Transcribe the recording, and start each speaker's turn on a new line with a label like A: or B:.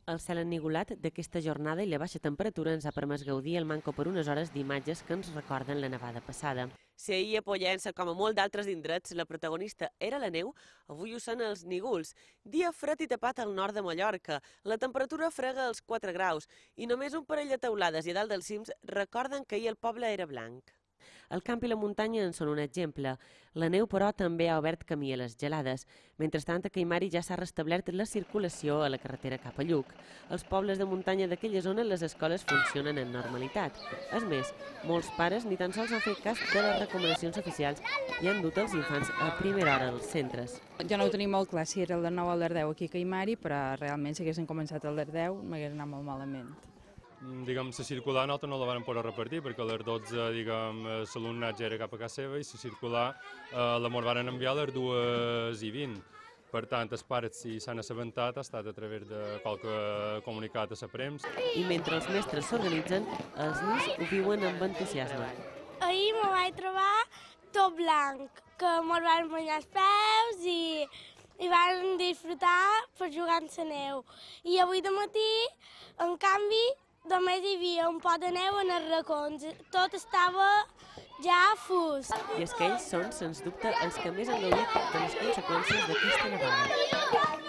A: El cel ennigolat d'aquesta jornada i la baixa temperatura ens ha permès gaudir el manco per unes hores d'imatges que ens recorden la nevada passada. Si ahir a Pollença, com a molt d'altres indrets, la protagonista era la neu, avui ho són els nígols. Dia fred i tapat al nord de Mallorca. La temperatura frega els 4 graus i només un parell de teulades i a dalt dels cims recorden que ahir el poble era blanc. El camp i la muntanya en són un exemple. La neu, però, també ha obert camí a les gelades. Mentrestant, a Caimari ja s'ha restablert la circulació a la carretera cap a Lluc. Als pobles de muntanya d'aquella zona les escoles funcionen en normalitat. És més, molts pares ni tan sols han fet cas de les recomanacions oficials i han dut els infants a primera hora als centres.
B: Jo no ho tenia molt clar si era el 9 o el 10 aquí a Caimari, però realment si haguessin començat el 10 m'hagués anat molt malament.
C: Diguem, la circular nosaltres no la vam poder repartir perquè a les 12, diguem, l'alumnat ja era cap a casa seva i la circular la mos van enviar a les 2:20. Per tant, els pares, si s'han assabentat, ha estat a través de qualque comunicat a la premsa.
A: I mentre els mestres s'organitzen, els nens ho viuen amb entusiasme.
D: Ahir me vaig trobar tot blanc, que mos van banyar els peus i van disfrutar per jugar en la neu. I avui de matí, en canvi, només hi havia un pot de neu en els racons. Tot estava ja fus.
A: I és que ells són, sens dubte, els que més han gaudit de les conseqüències d'aquesta nevada.